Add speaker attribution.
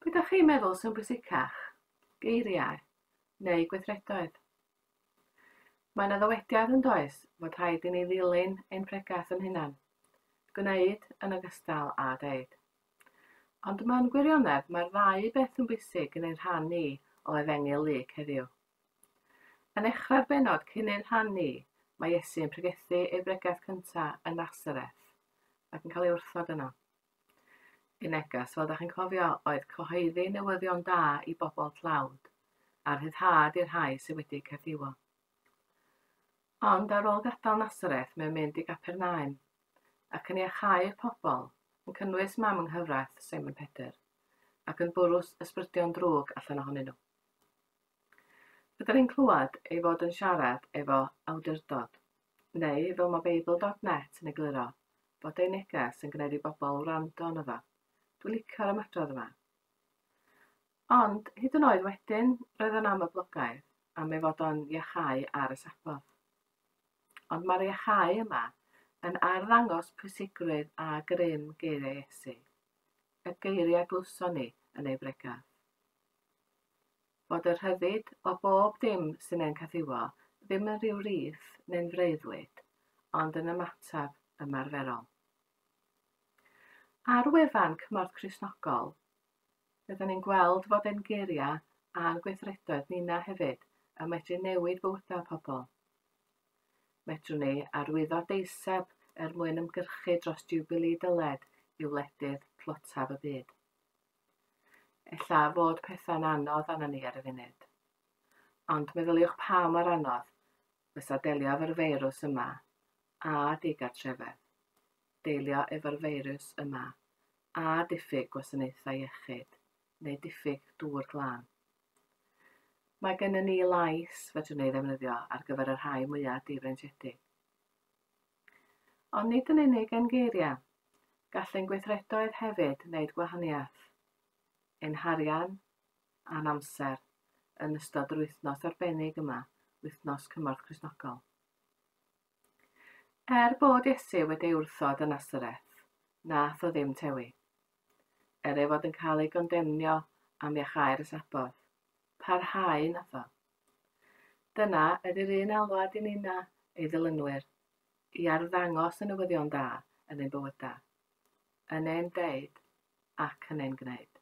Speaker 1: Be dach chi'n meddwl sy'n bwysicach, geiriau neu gweithredoedd? Mae yna ddywediad yn does fod rhaid i ni ddilyn ein pregath yn hunan, gwneud yn ogystal â deud. Ond mewn gwirionedd mae'r ddau beth yn bwysig yn ein rhan ni o Efengyl Luc heddiw. Yn nechrau'r bennod cyn ein rhan ni, mae Iesu yn pregethu ei bregeth cyntaf yn Nasareth ac yn cael ei wrthod yno. Ei neges, fel ydych chi'n cofio, oedd cyhoeddi newyddion da i bobl tlawd a rhyddhad i'r rhai sydd wedi caethiwo. Ond ar ôl gadael Nasareth, mae'n mynd i Gapernaum ac yn iachau'r pobl, yn cynnwys mam yng nghyfraith Simon Pedr, ac yn bwrw ysbrydion drwg allan ohonyn nhw. Rydyn ni'n clywed ei fod yn siarad efo awdurdod, neu fel mae Beibl.net yn egluro, bod ei neges yn gwneud i bobl wrando arno fo. Dwi'n licio'r ymadrodd yma. Ond, hyd yn oed wedyn, roedd o'n amhoblogaidd am ei fod o'n iachau ar y Saboth. Ond mae'r iachau yma yn arddangos pwysigrwydd a grym geiriau Iesu, y geiriau glywson ni yn ei bregath. Bod y rhyddid o bob dim sy'n ein caethiwo ddim yn rhyw rith neu'n freuddwyd, ond yn ymateb ymarferol. Ar wefan Cymorth Cristnogol, Rydyn ni'n gweld fod ein geiriau a'n gweithredoedd ninna hefyd yn medru newid bywydau pobl. Medrwn ni arwyddo deiseb er mwyn ymgyrchu dros Jiwbilî Dyled i wledydd tlotaf y byd. Ella fod pethau'n anodd arnon ni ar y funud. Ond meddyliwch pa mor anodd fysa delio efo'r feirws yma a digartrefedd. Deilio efo'r feirws yma a diffyg gwasanaethau iechyd neu diffyg dŵr glân. Mae gennym ni lais fedrwn ni ei ddefnyddio ar gyfer y rhai mwyaf difreintiedig. Ond nid yn unig ein geiriau, gall ein gweithredoedd hefyd wneud gwahaniaeth. Ein harian a'n amser yn ystod yr wythnos arbennig yma, Wythnos Cymorth Cristnogol. Er bod Iesu wedi ei wrthod yn Nasareth, nath o ddim tewi. Er ei fod yn cael ei gondemnio am iachau'r y Saboth, parhau nath o. Dyna ydy'r un alwad i ninna, ei ddilynwyr, i arddangos y newyddion da yn ein bywydau, yn ein deud ac yn ein gwneud.